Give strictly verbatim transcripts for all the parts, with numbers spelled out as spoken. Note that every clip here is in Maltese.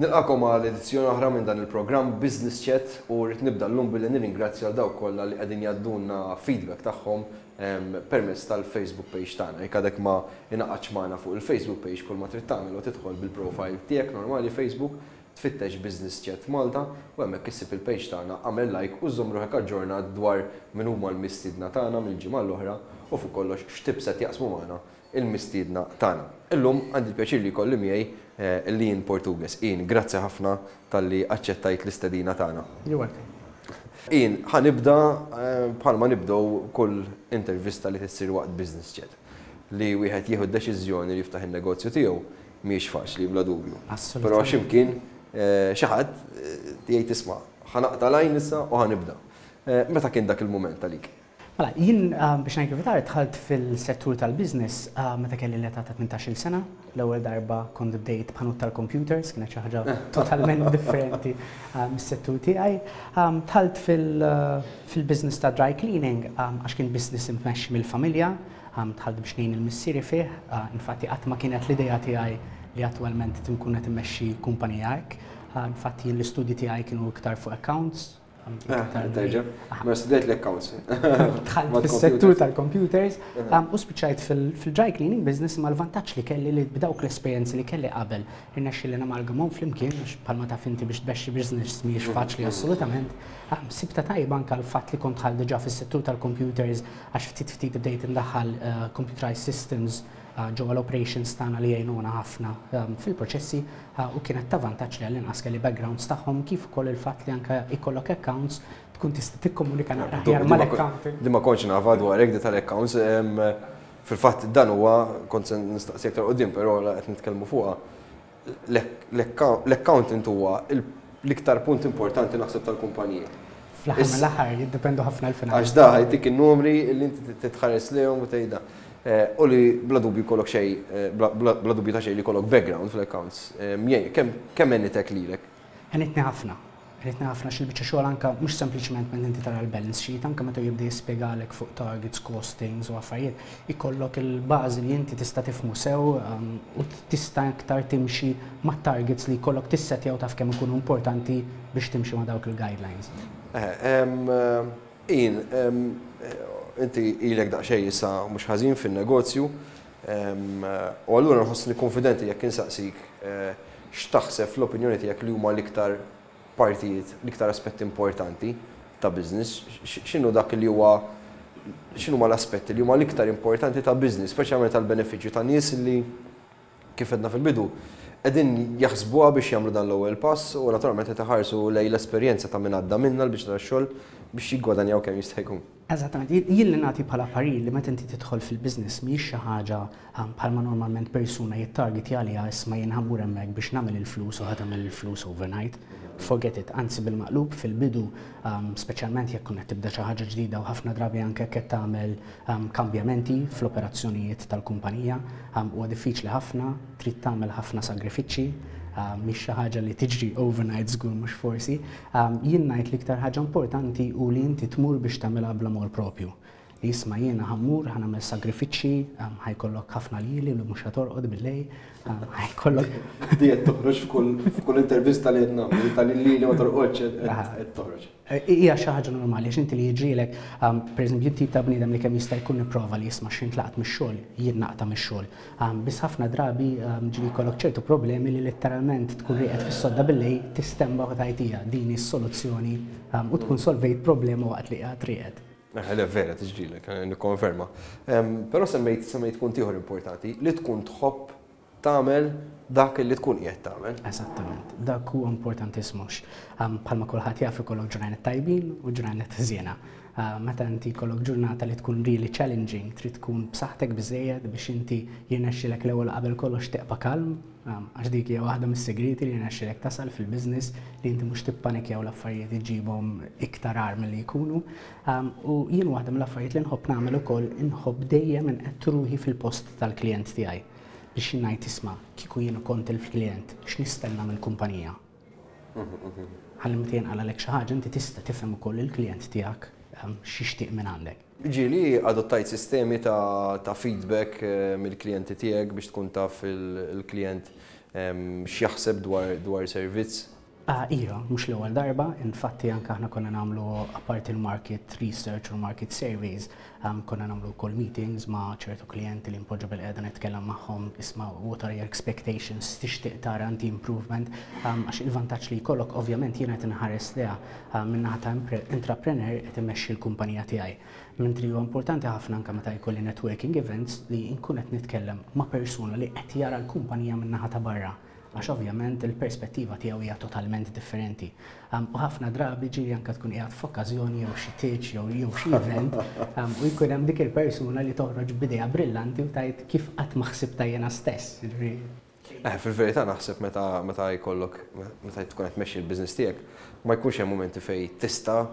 Nilqagħkom għal edizzjoni oħra minn dan il-programm Business Chat u rrid nibda llum billi nirringrazzja għal dawk kollha li qegħdin jgħaddulna feedback tagħhom permezz tal-Facebook page tagħna. Jekk għadek ma ingħaqadtx magħna fuq il-Facebook page, kull ma trid tagħmel u tidħol bil-profile tiegħek normali Facebook, tfittex Business Chat Malta u hemmhekk issib il-page tagħna, għamel like u żomm ruħek aġġornat dwar min huma l-mistiedna tagħna mill-ġimgħa l-oħra u fuq kollox x'tips qed jaqsmu magħna il-mistiedna tagħna. Illum għandi l-pjaċir li jkolli miegħi eh, Ian Portugues. Ian, grazzi ħafna talli aċċettajt l-istedina tagħna. You're welcome. Ian, ħa nibda eh, bħalma nibdew kull intervista li tissir waqt Business Chat. Li wieħed jieħu deċiżjoni li jiftaħ il-negozju tiegħu mhijiex faċli, bla dubju. Assolutament. Però x'imkien eh, xi ħadd jgħid, "Isma', ħa naqta' l-għajn issa u ħa nibda." Meta kien dak il-mument għalik? Mela, jien biex ngħid kif dħalt fil-settur tal-business meta kelli l-età ta' tmintax-il sena. L-ewwel darba kont bdejt b'ħanut tal-computers, kienet xi ħaġa totalment differenti mis-settur tiegħi. Dħalt fil-business ta' dry cleaning għax kien business immexxi mill-familja, dħalt biex ngħin il-missieri fih, infatti qatt ma kienet l-idea tiegħi li attwalment tinkun qed immexxi kumpanija hekk. Infatti jien l-istudji tiegħi kienu iktar fuq accounts. Terġa', ma studjajt l-accounts. Dħalt fis-settur tal-computers u spiċċajt fil-dry cleaning business, ma l-vantaġġ li kelli li b'dawk l-esperjenzi li kelli qabel irnexxi li namalgamhom flimkien, għax bħalma taf inti, biex tmexxi business mhijiex faċli assolutament. Sibta tajba anke l-fatt li kont dħalt diġà fis-settur tal-computers, għax ftit ftit bdejt indaħħal computerized systems ġewwa l-operations tagħna li jgħinuna ħafna fil-proċessi, u kienet ta' vantaġġ li għall-inqas kelli backgrounds tagħhom, kif ukoll il-fatt li anke ikollok accounts tkun tista' tikkomunika naqra aħjar mal-accountant. Di ma kontx nafha dwarek, di tal-accounts. Fil-fatt dan huwa kont se nistaqsi aktar quddiem, però qed nitkellmu fuqha. L-accountant huwa l-iktar punt importanti, naħseb, tal-kumpaniji. Fl-aħħar mill-aħħar jiddependu ħafna l-finanzi. Għax da ħa jtik in-numri li inti titħares lejhom u tgħidha. Eh, u li bla dubju kollok xej, eh, bla dubju ta' xej li kollok background fl-accounts. Kemm għenitek lilek? Għenitni ħafna. Għenitni ħafna xil-biċċa xogħol anka mhux sempliċement meta inti tara l-balance sheet, anka meta jibda jispjegalek fuq targets, costings u affarijiet, ikollok il-bażi li inti tista' tifhmu sew um, u tista' iktar timxi ma' targets li jkollok tissetjaw, taf kemm ikunu importanti biex timxi ma' dawk il-guidelines. Ian, inti ilek daqsxejn issa mhux ħażin fin-negozju, u allura nħossni konfidenti jekk insaqsik eh, x'taħseb, fl-opinjoni tiegħek, li huma l-iktar partijiet, l-iktar aspetti importanti ta' business, x'inhu dak li huwa, x'inhu ma l-aspetti li huma l-iktar importanti ta' business, speċjalment tal-benefiċċju ta' nies li, kif għedna fil-bidu, qegħdin jaħsbuha biex jagħmlu dan l-ewwel pass u naturalment qed iħarsu lejn l-esperjenza ta' min għadda minna l-biċċa tax-xogħol biex jiggwadanjaw kemm jista' jkun. Eżattament, jien li nagħti bħala parir li meta inti tidħol fil-business mhijiex xi ħaġa um, bħalma normalment persuna jittarget għaliha, "Isma', jien ħa mmur hemmhekk biex nagħmel il-flus u ħa tagħmel il-flus overnight." Forget it, anzi bil-maqlub, fil-bidu, um, speċjalment jekk qed tibda xi ħaġa ġdida u ħafna drabi anke qed tagħmel um, kambjamenti fl-operazzjonijiet tal-kumpanija, huwa diffiċli ħafna, trid tagħmel ħafna sagrifiċċji, mhix xi ħaġa li tiġri overnight żgur mhux forsi. Jien ngħid l-iktar ħaġa importanti u li inti tmur biex tagħmilha bl-amor propju. Li isma', jiena ħa mmur, ħa nagħmel sagrifiċċji, ħa jkollok ħafna ljieli li mhux ħa torqod bil-lejl, ħa jkollok. Di qed toħroġ f'kull intervista li qed nagħmel, tal-lili ma torqodx qed toħroġ. Hija xi ħaġa normali, għax inti li jiġrilek, pereżempju, tip ta' bniedem li kemm jista' jkun nipprova li jisma' x'int laqt mix-xogħol, jien naqta' mix-xogħol. Biss ħafna drabi ġieli jkollok ċertu problemi li letteralment tkun rieqed fis-sodda bil-lejl, tistenbaħ u tgħid, "Din is-soluzzjoni", u tkun solvejt problema waqt li qiegħed rieqed. Le, vera, tiġrilek, nikkonferma. Però semmejt semmejt punt ieħor importanti, li tkun tħobb tagħmel dak li tkun qiegħed tagħmel. Eżattament, dak huwa importantissimu. Bħalma kulħadd jaf, ikollok ġranet tajbin u ġranet ħżiena. Meta inti jkollok ġurnata li tkun really challenging, trid tkun b'saħħtek biżejjed biex inti jirnexxilek l-ewwel qabel kollox tibqa' kalm, għax dik hija waħda mis-segreti li jirnexxilek tasal fil-business, li inti mhux tippanikjaw l-affarijiet iġibhom iktar agħar milli jkunu. U jien waħda mill-affarijiet li nħobb nagħmel ukoll, inħobb dejjem inqed ruħi fil-post tal-klijent tiegħi biex ngħid, "Isma', kieku jien kont il-klient, x'nistenna mill-kumpanija?" Ħalli meta jinqalalek xi ħaġa, inti tista' tifhem ukoll il-klijent tiegħek x'jixtieq minn għandek. Ġieli adottajt sistemi ta', ta feedback eh, mill-klijenti tiegħek biex tkun taf il-klijent x'jaħseb dwar dwar servizz? Ah, iva, mhux l-ewwel darba, infatti anke aħna konna nagħmlu, apart il-market research u market surveys, um, konna nagħmlu wkoll meetings ma' ċertu klijenti li npoġġu bilqiegħda nitkellem magħhom, "Isma', what are your expectations, tixtieq tara anti improvement?" um, għax il-vantaġġ li jkollok, ovvjament jiena qed inħares leha um, min-naħa ta' entrepreneur qed immexxi l-kumpanija tiegħi. Mentri huwa importanti ħafna anke meta jkolli networking events li nkun qed nitkellem ma' persuna li qed jara l-kumpanija min-naħa ta' barra, għax ovvjament il-perspettiva tiegħu hija totalment differenti. Um, u ħafna drabi ġieli anke tkun qiegħed f'okkażjoni jew xi tieġ jew jew xi event um, u jkun hemm dik il-persuna li toħroġ b'idea brillanti u tgħid, "Kif qatt ma ħsibta jiena stess?" Eh, fil-verità naħseb meta meta jkollok meta tkun qed tmexxi l-business tiegħek ma jkunx hemm momenti fejn tista'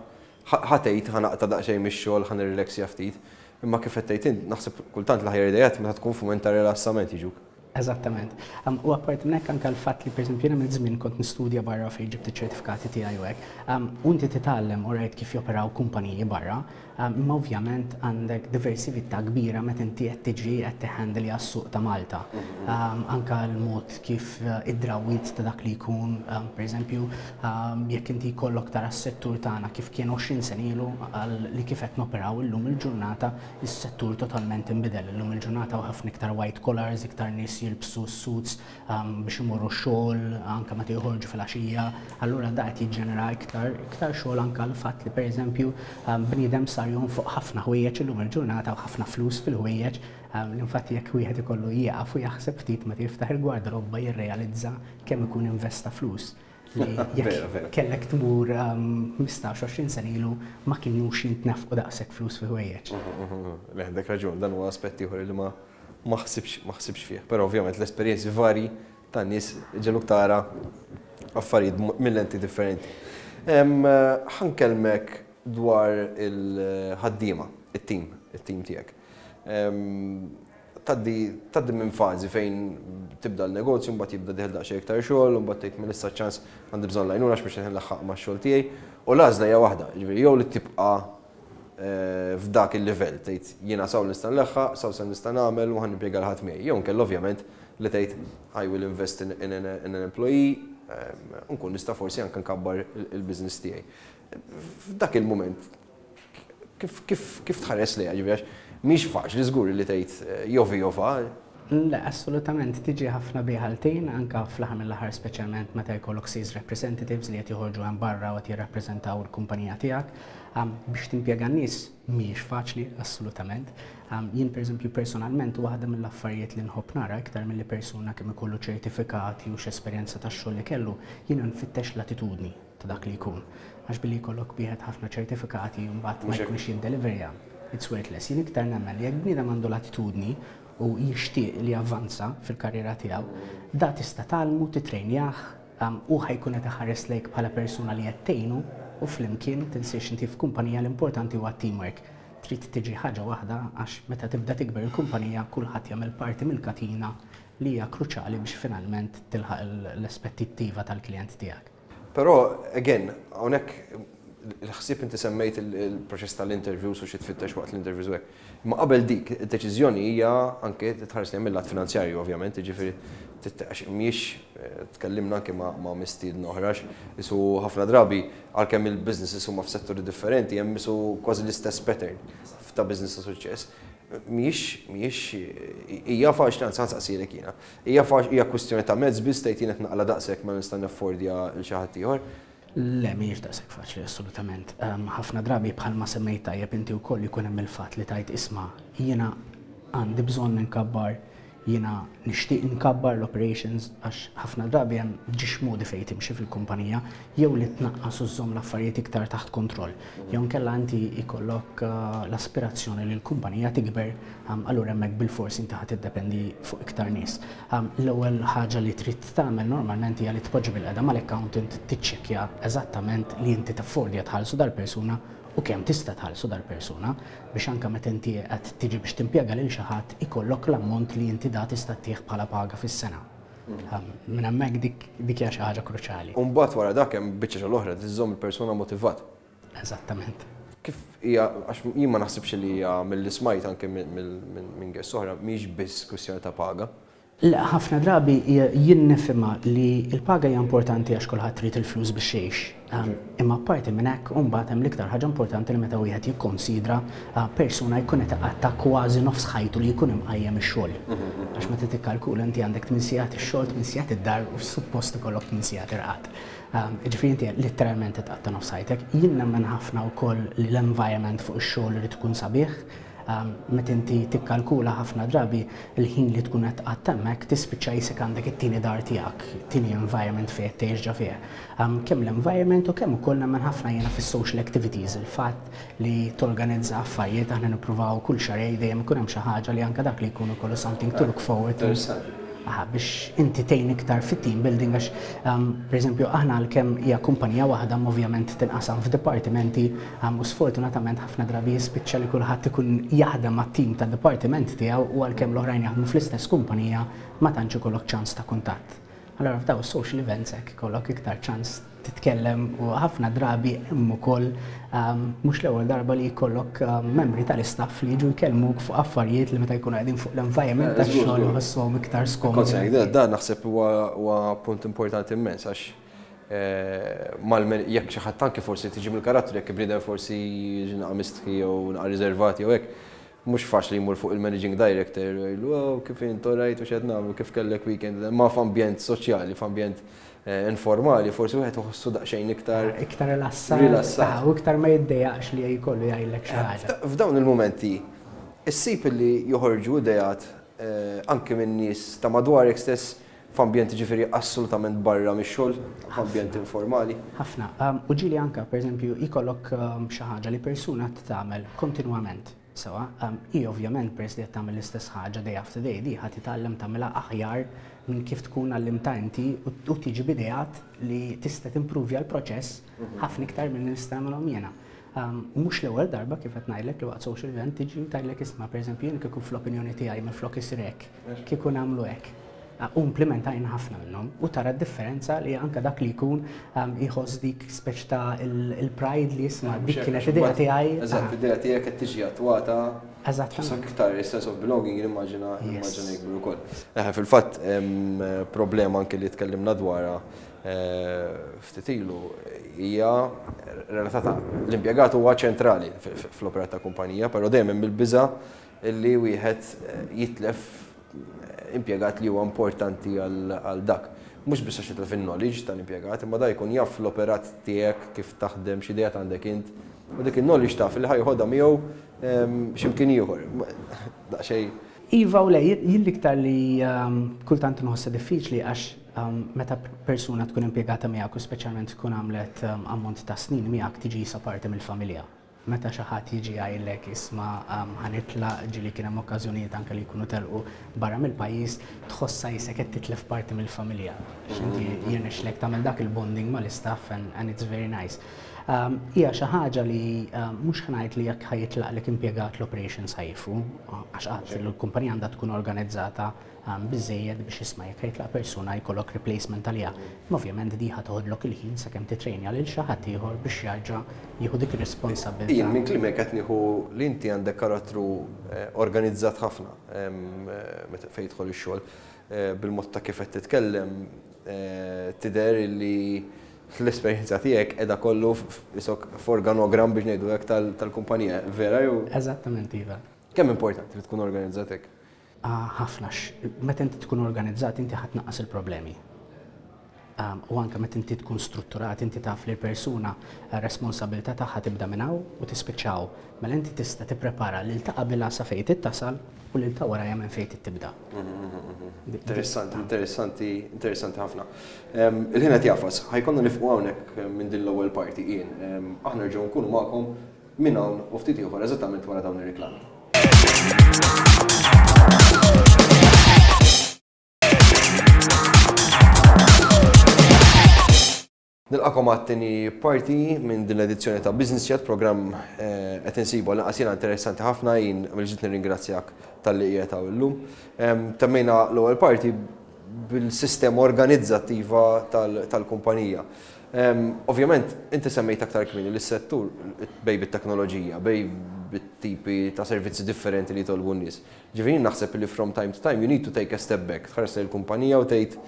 ħa tgħid, "Ħa naqta' daqsxejn mix-xogħol, ħa nirrilaxxja ftit." Imma kif qed tgħid, naħseb kultant l-aħjar idejat meta tkun f'mument ta' rilassament jiġuk. Eżattament. Um, u apart minn hekk anke l-fatt li, pereżempju, jiena minn żmien kont nistudja barra fejn ġibt iċ-ċertifikati tiegħi u hekk. Um, u inti titgħallem, alright, kif joperaw kumpaniji barra, um, imma ovvjament għandek diversità kbira meta inti qed tiġi qed tihandle għas-suq ta' Malta. Um, anka l-mod kif uh, id-drawwiet ta' dak li jkun, um, pereżempju, um, jekk inti jkollok tara s-settur tagħna kif kien għoxrin sena ilu għal li kif qed noperaw illum il-ġurnata, is-settur totalment inbidel. Illum il-ġurnata u ħafna iktar white collars, iktar nies jilbsu suits um, biex imorru xogħol, anka meta joħorġu fil-għaxija, allura da qed jiġġenera iktar iktar xogħol, anka l-fatt li, pereżempju, um, bniedem sar jonfoq ħafna ħwejjeġ illum il-ġurnata u ħafna flus fil-ħwejjeġ. um, Infatti jekk wieħed ikollu jieqaf u jaħseb ftit meta jiftaħ il-gwardarobba, jirrealizza kemm ikun investa flus li jekk kellek tmur ħmistax għoxrin sena ilu ma kienux jintnefqu daqshekk flus fi ħwejjeġ. Le, għandek raġun, dan huwa aspett ieħor li ma ma ħsibx ma ħsibx fih. Però ovvjament l-esperjenzi vari tan-nies iġegħluk tara affarijiet mill-lenti differenti. Ħa nkellmek dwar il-ħaddiema, it-team, it-team tiegħek. Tgħaddi tgħaddi minn fażi fejn tibda l-negozju, mbagħad jibda dieħel daqsxejn iktar xogħol, u mbagħad tgħid, "Minn issa ċans għandi bżonn l-għajnuna għax biex nlaħħaq max-xogħol tiegħi." U l-għażla hija waħda, jiġifieri jew li tibqa' f'dak il-livell, tgħid, "Jiena s'hawn nista' nleħħaq, s'hawn se nista' nagħmel u ħa nimpjega 'l ħadd miegħi." Jew inkella ovvjament li tgħid, "I will invest in, in, in an employee, nkun nista' forsi anke nkabbar il-business tiegħi." F'dak il-moment kif kif kif tħares lejha, ġifieri mhix faċli żgur li tgħid jovi jova. Le, assolutament, tiġi ħafna biħaltejn, anka fl-aħħar mill-aħħar, speċjalment meta jkollok sales representatives li qed joħorġu hemm barra u qed jirrappreżentaw il-kumpanija tiegħek. Biex timpjega n-nies mhijiex faċli, assolutament. Jien, pereżempju, personalment, waħda mill-affarijiet li nħobb nara iktar milli persuna kemm ikollu ċertifikati u x'esperjenza tax-xogħol li kellu, jiena nfittex l-attitudni ta' dak li jkun. Għax billi jkollok wieħed ħafna ċertifikati u mbagħad ma jkunx jiddeliverja, it's worthless. Jien iktar nemmen li jekk bniedem għandu l-attitudni u jixtieq li avvanza fil-karriera tiegħu, da tista' tgħallmu, titrejnjah u ħa jkun qed iħares lejk bħala persuna li qed tgħinu u flimkien. Tinsiex inti f'kumpanija l-importanti huwa teamwork. Trid tiġi ħaġa waħda, għax meta tibda tikber il-kumpanija kulħadd jagħmel parti mill-katina li hija kruċjali biex finalment tilħaq l-aspettattiva tal-klient tiegħek. Però, again, hawnhekk il-ħsieb, inti semmejt il-proċess tal-interviews u xi tfittex waqt l-interviews u hekk. Imma qabel dik, id-deċiżjoni hija anke tħares li mill-lat finanzjarju ovvjament, jiġifieri għax mhijiex, tkellimna anke ma' mistiedna oħra, isu ħafna drabi għalkemm il-businesses huma f'setturi differenti hemm isu kważi l-istess pattern ta' business ta' suċċess. Mhijiex mhijiex hija faċli, anzi nsaqsilek jiena. Hija faċli, hija kwistjoni ta' mezz biss, tgħid, "Jien qed naqla' daqshekk, ma nista' naffordja lil xi ħadd ieħor"? Le, mhijiex daqshekk faċli, assolutament. Ħafna drabi, bħalma semmejt tajjeb inti wkoll, jkun hemm il-fatt li tgħid, "Isma', jiena għandi bżonn nkabbar, jiena nixtieq nkabbar l-operations," għax ħafna drabi hemm ġiex modi fejn timxi fil-kumpanija, jew li tnaqqas u żżomm l-affarijiet iktar taħt kontroll. Jew nkella inti jkollok l-aspirazzjoni li l-kumpanija tikber, allura hemmhekk bil-fors inti ħa tiddependi fuq iktar nies. L-ewwel ħaġa li trid tagħmel normalment hija li tpoġġi bilqiegħda mal-accountant, tiċċekkja eżattament li inti taffordja tħallsu dal-persuna u kemm tista' tħallsu dal-persuna, biex anke meta inti qed tiġi biex timpjega lil xi ħadd ikollok l-ammont li inti da tista' ttih bħala paga fis-sena. Minn hemmhekk dik dik hija xi ħaġa kruċjali. U mbagħad wara dak hemm biċċa xogħol oħra, tiżżomm il-persuna motivat. Eżattament. Kif hija, għax jien ma naħsibx li hija, mill-li smajt anke minn guest oħra, mhix biss kwistjoni ta' paga. Le, ħafna drabi jien nifhimha li l-paga hija importanti għax kulħadd trid il-flus biex jgħix. Imma apparti minn hekk, mbagħad hemm l-iktar ħaġa importanti li meta wieħed jikkonsidra persuna jkun qed iqatta' kważi nofs ħajtu li jkun imqajjem ix-xogħol. Għax meta tikkalkula inti għandek tmien sigħat ix-xogħol, tmien sigħat id-dar u suppost ikollok tmien sigħat irqad. Ġifieri inti letteralment tqatta' nofs ħajtek. Jien nemmen ħafna wkoll li l-environment fuq ix-xogħol irid ikun sabiħ. Meta inti tikkalkula ħafna drabi il-ħin li tkun qed tqatta' hemmhekk tispiċċa jisek għandek it-tieni dar tiegħek, it-tieni environment fejn qed tgħix ġo fih. Kemm l-environment u kemm ukoll nemmen ħafna jiena fis-social activities, il-fatt li torganizza affarijiet, aħna nippruvaw kull xahrejn dejjem ikun hemm xi ħaġa li anke dak li jkun ikollu something to look forward to. Aha, biex inti tgħin iktar fit-team building għax, pereżempju, aħna għalkemm hija kumpanija waħda ovvjament tinqasam f'dipartimenti u sfortunatament ħafna drabi jispiċċa li kulħadd ikun jaħdem mat-team tad-dipartiment tiegħu u għalkemm l-oħrajn jaħdmu fl-istess kumpanija ma tantx ikollok ċans ta' kuntatt. Allora f'daw social events hekk ikollok iktar ċans titkellem u ħafna drabi hemm ukoll mhux l-ewwel darba li jkollok membri tal-istaff li jiġu jkellmuk fuq affarijiet li meta jkunu qegħdin fuq l-environment tax-xogħol iħossuhom iktar skomdi. Da naħseb huwa punt importanti immens għax jekk xi ħadd anke forsi tiġi mill-karattru jekk bniedem forsi naqra mistħi jew naqra riservati jew hekk, mhux faċli jmur fuq il-managing director jgħidlu oh kif int rajt u x'qed nagħmlu kif kellek weekend, ma f'ambjent soċjali, f'ambjent informali, forsi wieħed iħossu daqsxejn iktar iktar rilassat u iktar ma jiddejjaqx li jkollu jgħidlek xi ħaġa. F'dawn il-mumenti issib li joħorġu ideat anke minn nies ta' madwarek stess f'ambjent ġifieri assolutament barra mix-xogħol, f'ambjent informali. Ħafna. U ġieli anke pereżempju jkollok xi ħaġa li persuna tagħmel kontinwament. Sewa, hi ovvjament peress li qed tagħmel l-istess ħaġa day after day, di ħadd titgħallem tagħmilha aħjar minn kif tkun għallimta inti u tiġi b'ideat li tista' timpruvja l-proċess ħafna iktar minn nista' nagħmilhom jiena. U mhux l-ewwel darba kif qed ngħidlek li waqt social event tiġi u tgħidlek isma' pereżempju jien kieku fl-opinjoni tiegħi minflok isir hekk, kieku nagħmlu hekk. U implementajna ħafna minnhom u tara d-differenza li anke dak li jkun jħoss dik speċ ta' il-pride li jisma' dik kienet idea tiegħi. Eżatt, idea tiegħek qed tiġi attwata. Eżatt. Iktar sense of belonging nimmaġina nimmaġina jikbru wkoll. Fil-fatt problema anke li tkellimna dwarha ftit ilu hija relatata l-impjegat huwa ċentrali fl-operat ta' kumpanija, però dejjem hemm il-biża' li wieħed jitlef impjegat li huwa importanti għal dak. Mhux biss għax jitlef il-knowledge tal-impjegat, imma da jkun jaf l-operat tiegħek kif taħdem, x'ideat għandek int, u dik il-knowledge taf li ħajħodha miegħu x'imkien ieħor. Daqsxejn. Iva u le, jien l-iktar li kultant nħossha diffiċli għax meta persuna tkun impjegata miegħek u speċjalment tkun għamlet ammont ta' snin miegħek tiġi sa parti mill-familja. Meta xi ħadd jiġi jgħidlek isma' ħanitlaq ġieli kien hemm okkażjonijiet anke li jkunu telqu barra mill-pajjiż, tħossha jisek qed titlef parti mill-familja. Għax inti jirnexxlek tagħmel dak il-bonding mal-istaff and it's very nice. Hija xi ħaġa li mhux ħa ngħid li jekk ħajitlaqlek impjegat l-operations ħajfu, għax qatt l-kumpanija għandha tkun organizzata biżejjed biex isma' jekk ħajtlaq persuna jkollok replacement għaliha. Ma ovvjament di ħa toħodlok il-ħin sakemm titrejnja lil xi ħadd ieħor biex jarġa' jieħu dik ir-responsabilità. Jien minn klimek qed nieħu li inti għandek karattru organizzat ħafna meta fejn jidħol ix-xogħol bil-mod ta' kif qed titkellem tidher li l-esperjenza tiegħek qiegħda kollu isok f'organogram biex ngħidu hekk tal-kumpanija, vera jew? Eżattament, iva. Kemm importanti li tkun organizzat hekk? Ħafna, meta inti tkun organizzat inti ħadd tnaqqas il-problemi. U anke meta inti tkun strutturat, inti taf li l-persuna responsabilità tagħha tibda minn hawn u tispiċċaw. Mela inti tista' tipprepara lil ta' qabilha sa fejn tittasal u lil ta' warajha minn fejn tibda. Interessanti, interessanti, interessanti ħafna. Il-ħin qed jafas, ħajkonna nifqu hawnhekk minn din l-ewwel parti jien. Aħna nerġgħu nkunu magħkom minn hawn u ftit ieħor eżattament wara dawn ir-riklami. Nilqakom għat-tieni parti minn din l-edizzjoni ta' Business Chat, programm qed insibu għal jiena interessanti ħafna, jien mill-ġdid nirringrazzjak talli qiegħed hawn illum. Temmejna l-ewwel parti bil-sistema organizzattiva tal-kumpanija. Ovvjament, inti semmejt aktar kmieni li s-settur bejn bit-teknoloġija, bejn bit-tipi ta' servizzi differenti li jitolbu n-nies. Ġifieri naħseb li from time to time you need to take a step back, tħares il-kumpanija u tgħid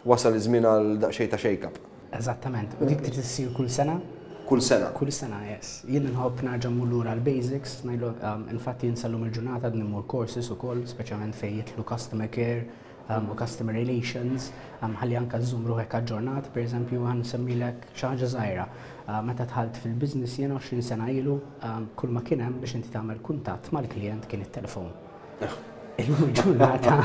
wasal iż-żmien għal daqsxejn ta' shake-up. Eżattament. U dik trid issir kull sena? Kull sena. Kull sena, yes. Jien nħobb nerġa' mmur lura l-basics, ngħidlu um, infatti jien sal-lum il-ġurnata mmur courses ukoll, speċjalment fejn jidħlu customer care um, u customer relations, um, ħalli anka żżomm ruħek aġġornat, per eżempju ħa nsemmilek xi ħaġa żgħira. Uh, meta dħalt fil-business jien għoxrin sena ilu, um, kull ma kien hemm biex inti tagħmel kuntatt mal-klient kien it-telefon. Illum il-ġurnata.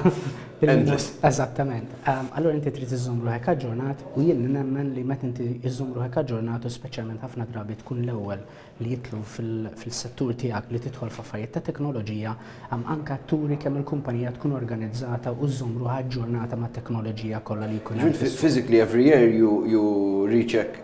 Endless. Eżattament. Um, allora inti trid iżżomm ruħek aġġornat u jien nemmen li meta inti iżżomm ruħek aġġornat u speċjalment ħafna drabi tkun l-ewwel li jidħlu fil-settur tiegħek li tidħol f'affarijiet ta' teknoloġija, um, anka turi kemm il-kumpanija tkun organizzata u żżomm ruħha aġġornata ma' teknoloġija kollha li jkun hemm. Physically every year you, you recheck,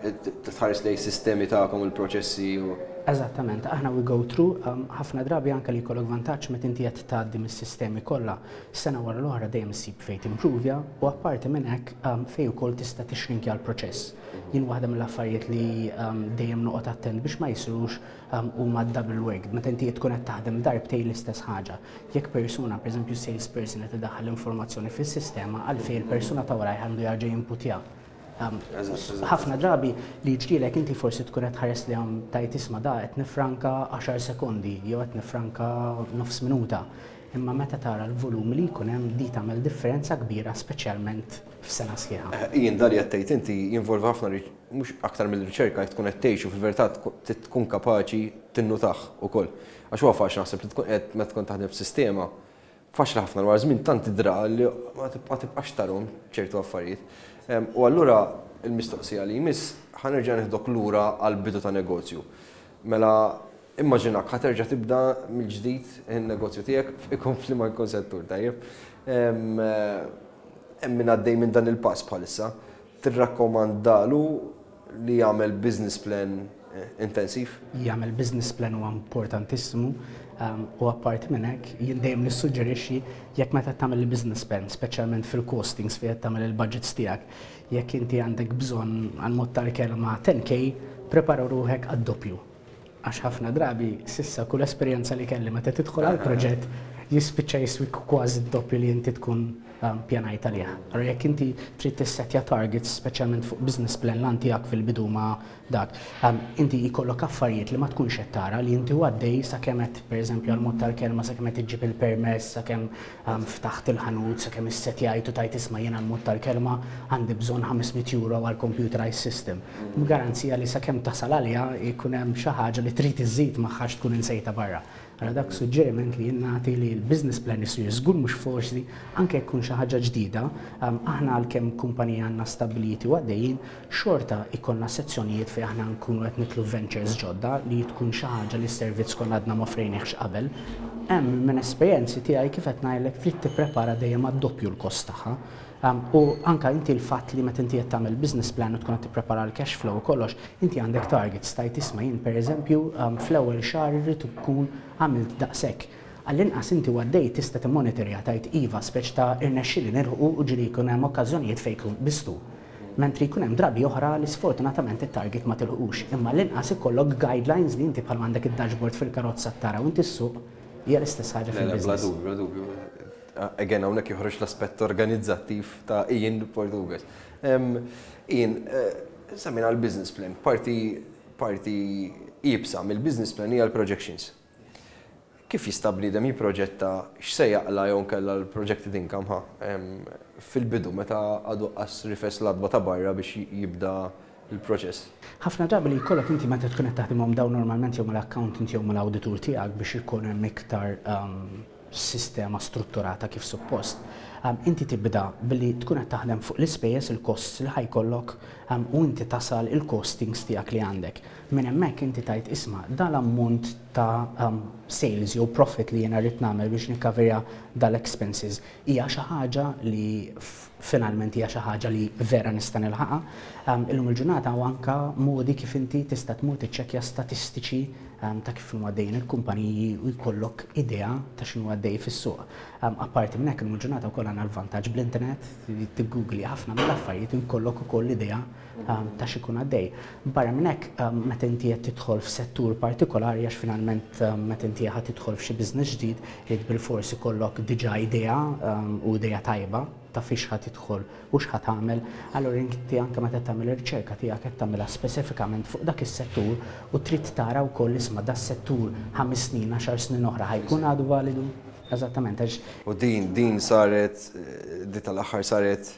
tħares lejn sistemi tagħkom, il-proċessi u Eżattament, aħna we go through, um, ħafna drabi anka li jkollok vantaġġ meta inti qed tgħaddi mis-sistemi kollha sena wara l-oħra, dejjem issib fejn timprovja u apparti minn hekk um, fejn ukoll tista' tixrinkja l-proċess. Jien waħda mill-affarijiet li um, dejjem noqgħod attent biex ma jsirux um, huma double work. Meta inti tkun qed taħdem darbtejn l-istess ħaġa. Jekk persuna, pereżempju salesperson, qed idaħħal l-informazzjoni fis-sistema, għalfejn il-persuna ta' warajh għandu jarġa' jinputja? Um, ħafna drabi li ġrilek inti forsi tkun qed tħares li għam tajt isma' da qed nifranka għaxar sekondi jew qed nifranka nofs minuta. Imma meta tara l-volum li jkun hemm, di tagħmel differenza kbira, speċjalment f'sena sħiħa. Eh, Jien dali qed tgħid inti jinvolvi ħafna, mhux aktar mill-riċerka tkun qed tgħixu fil-verità, tkun kapaċi tinnutah ukoll. Għax huwa faċli naħseb li tkun qed meta tkun taħdem f'sistema, faċli ħafna wara żmien tant tidra li ma tibqax tarhom ċertu affarijiet. U allura il-mistoqsija li jmiss, ħa nerġa' neħdok lura għal bidu ta' negozju. Mela immaġinak ħa terġa' tibda mill-ġdid in-negozju tiegħek, ikun f'liema jkun settur, tajjeb. Hemm min għaddej minn dan il-pass bħalissa. Tirrakkomandalu li jagħmel business plan eh, intensiv? Jagħmel business plan huwa importantissimu um, u apparti minn hekk jien dejjem nissuġġerixxi jekk meta tagħmel il-business plan, speċjalment fil-costings fejn tagħmel il-budgets tiegħek, jekk inti għandek bżonn għal mod tal-kelma ten K, prepara ruħek għad-doppju. Għax ħafna drabi s'issa kull esperjenza li kelli, meta tidħol għal proġett jispiċċa jiswik kważi d-doppju li inti tkun um, pjanajt għalih. Allora jekk inti trid tissetja targets, speċjalment fuq business plan lan tiegħek fil-bidu ma dak, um, inti jkollok affarijiet li ma tkunx qed tara li inti għaddej sakemm qed, pereżempju għal mod tal-kelma, sakemm qed iġġib il-permess, sakemm um, ftaħt il-ħanut, sakemm issetjajt u tajt isma' jiena għal mod tal-kelma għandi bżonn ħames mitt euro għal computerized system. Garanzija li sakemm tasal għalija jkun hemm xi ħaġa li trid iżid magħha tkun insejta barra. Allora dak suġġeriment li jien nagħti li l-business plan isir żgur, mhux forsi anke jkun xi ħaġa ġdida, um, aħna għalkemm kumpanija għandna stabiliti u għaddejjin, xorta ikollna sezzjonijiet fejn aħna nkunu qed nidħlu ventures ġodda li tkun xi ħaġa li s-servizz konna għadna ma offrejniex qabel. Hemm minn esperjenzi tiegħi kif qed ngħidlek, trid tipprepara dejjem għad-doppju l-kost tagħha. Um, u anka inti l-fatt li meta inti qed tagħmel business plan u tkun qed tipprepara l-cash flow u kollox, inti għandek targets, tajt isma' jien pereżempju um, fl-ewwel xahar irrid ikun għamilt daqshekk. Għall-inqas inti għaddej tista' timmonitorja, tajt iva speċ ta' irnexxieli nilħqu, u ġieli jkun hemm okkażjonijiet fejn jkun bistu. Mentri jkun hemm drabi oħra li sfortunatament it-target ma tilħqux, imma l-inqas ikollok guidelines li inti bħal għandek id-dashboard fil-karozza tara u inti ssuq, hija l-istess ħaġa Le, le, bla fil-business. dubju, bla dubju. Again, hawnhekk joħroġ l-aspett organizzattiv ta' Ian Portugues. Em, Ian, eh, semmejna l-business plan, parti parti iebsa mill-business plan hija l-projections. Kif jista' bniedem jipproġetta x'se jaqla' jew nkella l-projected income ħa em, fil-bidu meta għadu qas rifes l-għatba ta' barra biex jibda il-proċess? Ħafna drabi li jkollok inti meta tkun qed taħdimhom dawn normalment jew mal-accountant jew mal-awditur tiegħek biex ikun hemm iktar um, sistema strutturata kif suppost. Um, inti tibda billi tkun qed taħdem fuq l-ispejjeż, il-costs li ħa jkollok um, u inti tasal il-costings tiegħek li għandek. Minn hemmhekk inti tajt isma' dal-ammont ta' um, sales jew profit li jiena rrid nagħmel biex nikkaverja dal-expenses hija xi ħaġa li finalment hija xi ħaġa li vera nista' nilħaqha. Um, illum il-ġurnata u anka modi kif inti tista' tmur tiċċekkja statistiċi um, ta' kif huma għaddejjin il-kumpaniji u jkollok idea ta' x'inhu għaddej fis-suq. Um, apparti minn hekk, illum il-ġurnata wkoll għandna l-vantaġġ bl-internet, tiggugli ħafna mill-affarijiet u jkollok ukoll idea um, ta' x'ikun għaddej. Barra minn hekk, um, meta inti qed tidħol f'settur partikolari, għax finalment um, meta inti ħa tidħol f'xi business ġdid, irid bilfors ikollok diġà idea um, u idea tajba ta' fiex ħa tidħol u x'ħa tagħmel, allura inti anke meta tagħmel ir-riċerka tiegħek qed tagħmilha speċifikament fuq dak is-settur u trid tara wkoll, isma', das-settur ħames snin, għaxar snin oħra ħa jkun għadu validu. Eżattament, għax U din, din saret, eh, di tal-aħħar saret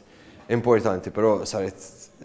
importanti, però saret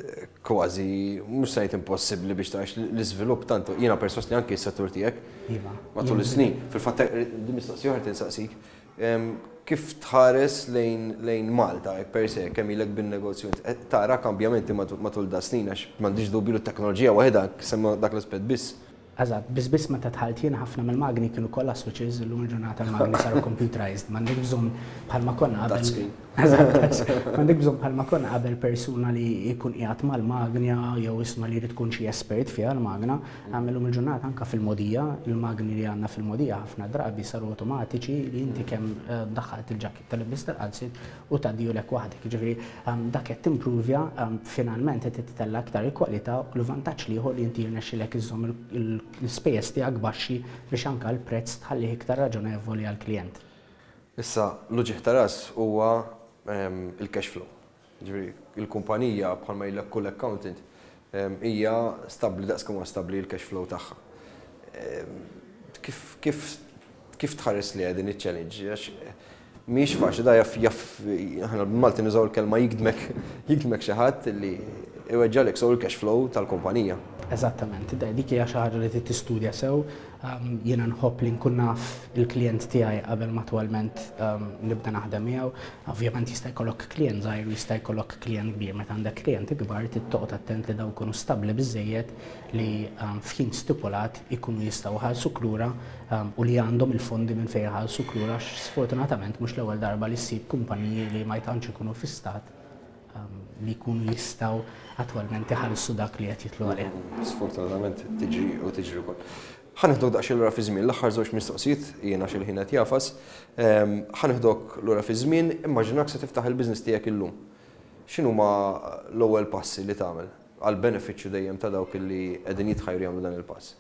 eh, kważi, mhux sajt impossibbli biex tarax l-iżvilupp tantu. Jiena perswas li anki s-settur tiegħek Iva. matul is-snin. Fil-fatt, di mistoqsija oħra tinsaqsik, em, kif tħares lejn, lejn Malta, hekk per se, kemm ilek bin-negozju, int, qed tara kambjamenti matul, matul da snin, għax m'għandix dubju li t-teknoloġija waħedha, semma dak l-aspett biss. Eżatt, biss biss meta dħalt jien ħafna mill-magni kienu kollha switches, illum il-ġurnata l-magni saru computerized, m'għandek bżonn bħalma konna qabel. Touchscreen. Eżatt, touchscreen. M'għandek bżonn bħalma konna qabel persuna li jkun qiegħed mal-magna jew, isma', li jrid tkun xi espert fiha l-magna. Illum il-ġurnata anke fil-mogħdija, il-magni li għandna fil-mogħdija ħafna drabi saru automatiċi li inti kemm eh, daħħalt il-ġaketta tal-libis tal-qalzit u tgħaddihulek waħdek. Jiġifieri ehm, dak qed timprovja, ehm, finalment qed titella aktar il-kwalità u l-vantaġġ ieħor li inti jirnexxilek iżżomm il- l-ispejjeż tiegħek baxxi biex anke l-prezz tħallih iktar raġonevoli għall-klijent. Issa, l-uġigħ ta' ras huwa em, il-cash flow. Ġifieri, il-kumpanija, bħalma jgħidlek kull accountant, em, hija stabbli daqs kemm huwa stabbli il-cash flow tagħha. Em, Kif kif kif tħares li din iċ-challenge? Għax mhix faċli, da jaf jaf aħna bil-Malti nużaw il-kelma jigdmek jigdmek xi ħadd li iweġġalek sew il-cash flow tal-kumpanija. Eżattament, da- dik hija xi ħaġa li trid tistudja sew. Um, jiena nħobb li nkun naf il-klient tiegħi qabel ma attwalment um, nibda naħdem miegħu. Ovvjament jista' jkollok klient żgħir u jista' jkollok klient kbir. Meta għandek klient ikbar trid toqgħod attent li dawn ikunu stabbli biżejjed li um, f'ħin stipulat ikunu jistgħu jħallsuk lura um, u li għandhom il-fondi minn fejn jħallsuk lura, għax sfortunatament mhux l-ewwel darba li ssib kumpaniji li ma tantx ikunu fi stat um, li jkunu jistgħu attwalment iħallsu dak li qed jitlu għalih. Sfortunatament tiġri u tiġri wkoll. Ħa neħdok daqsxejn lura fi żmien, l-aħħar żewġ mistoqsijiet, jiena xi ħin qed jagħfas. Ehm, Ħa neħdok lura fi żmien, immaġinak se tiftaħ il-business tiegħek illum. X'inhuma l-ewwel passi li tagħmel għal benefiċċju dejjem ta' dawk li qegħdin jitħajru jagħmlu dan il-pass?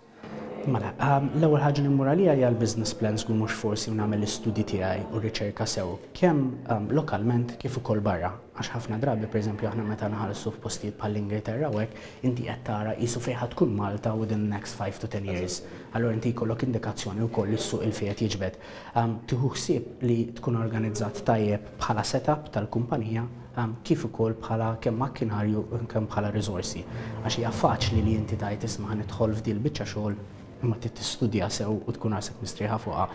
Mela, um, l-ewwel ħaġa li mmur għalija hija l-business plan żgur mhux forsi, u nagħmel l-istudji tiegħi u r-riċerka sew kemm um, lokalment kif ukoll barra. Għax ħafna drabi, pereżempju, aħna meta nħallsu f'postijiet bħall-Ingilterra u hekk, inti qed tara qisu fejn ħa tkun Malta within the next five to ten years. Allura inti jkollok indikazzjoni wkoll is-suq il fejn qed jiġbed. Um, Tieħu ħsieb li tkun organizzat tajjeb bħala setup tal-kumpanija um, kif ukoll bħala kemm makkinarju u kemm bħala riżorsi. Għax hija faċli li inti tgħid, "Isma', ħa nidħol f'dil biċċa xogħol," imma trid tistudja sew u tkun rasek mistrieħa fuqha.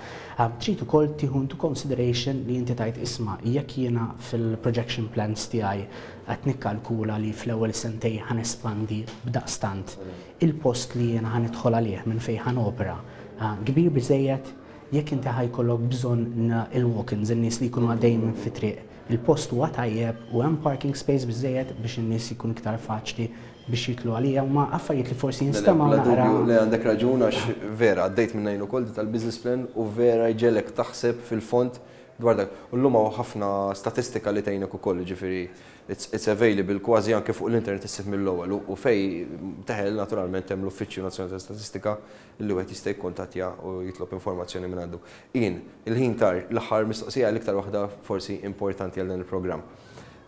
Um, Trid ukoll tieħu into consideration li inti tgħid, "Isma', jekk jiena fil-projection plans tiegħi qed nikkalkula li fl-ewwel sentej ħa nespandi b'daqstant, il-post li jiena ħa nidħol għalih minn fejn ħa nopera uh, kbir biżejjed, jekk inti ħa jkollok bżonn il-walk-ins, in-nies li jkunu għaddejjin minn fit-triq, il-post huwa tajjeb u hemm parking space biżejjed biex in-nies jkun iktar faċli biex jitlu għalija?" Huma affarijiet li forsi jinstemgħu Bla naqra. dubju li għandek raġun, għax vera għaddejt minn jien ukoll tal-business plan u vera jġegħlek taħseb fil-fond dwar dak. U llum hawn ħafna statistika li tgħinek ukoll, ġifieri it's, it's available kważi anke fuq l-internet issib mill-ewwel u- u fejn teħel naturalment hemm l-Uffiċċju Nazzjonali ta' Statistika li wieħed jista' jikkuntattja u jitlob informazzjoni minn għandu. Jien, il-ħin tar, l-aħħar mistoqsija, l-iktar waħda forsi importanti għal dan il-programm.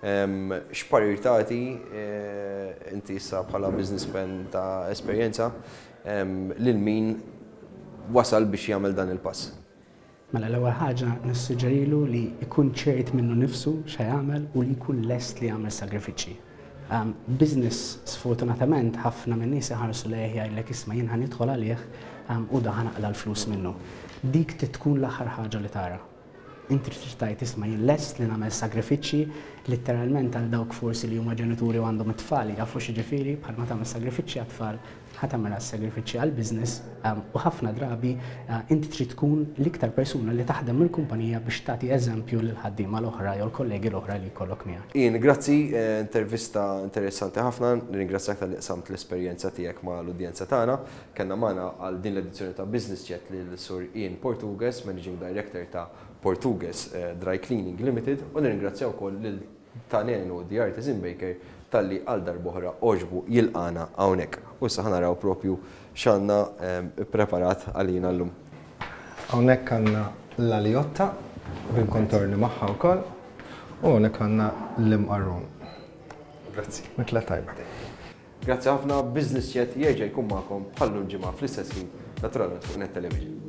Em, X'parir tagħti eh, inti issa bħala businessman ta' esperjenza em, lil min wasal biex jagħmel dan il-pass? Mela, l-ewwel ħaġa nissuġġerilu li jkun ċert minnu nifsu x'ha jagħmel u li jkun lest li jagħmel sagrifiċċji. Um, business sfortunatament ħafna minn nies iħarsu lejh, jgħidlek, "Isma', jien ħa nidħol għalih um, u da ħa naqla' l-flus minnu." Dik trid tkun l-aħħar ħaġa li tara. Inti trid tgħid, "Isma', jien lest li nagħmel sagrifiċċji," letteralment għal dawk forsi li huma ġenituri u għandhom it-tfal jafu x'jiġifieri, bħalma tagħmel sagrifiċċji għat-tfal, ħa tagħmel sagrifiċċji għal business um, u ħafna drabi uh, inti trid tkun l-iktar persuna li taħdem mill-kumpanija biex tagħti eżempju lil ħaddiema l-oħra jew l-kollegi l-oħra li jkollok miegħek. Ian, grazzi, eh, intervista interessanti ħafna, nirringrazzjak talli qsamt l-esperjenza tiegħek ma' l-udjenza tagħna. Kellna magħna għal din l-edizzjoni ta' Business Chat lil Sur Ian Portugues, Managing Director ta' Portuguese eh, Dry Cleaning Limited u nirringrazzjaw ukoll lil Tanenu The Artisan Baker talli għal darb'oħra għoġbu jilqagħna hawnhekk. U issa ħa naraw propju x'għandna ehm, preparat għalina llum. Hawnhekk għandna l-aljotta bil-kontorni magħha wkoll u hawnhekk għandna l-imqarrun. Grazzi. Mikla tajba. Grazzi ħafna. Business Chat jerġa' jkun magħkom bħal-lum ġimgħa fl-istess ħin, naturalment fuq Net Television.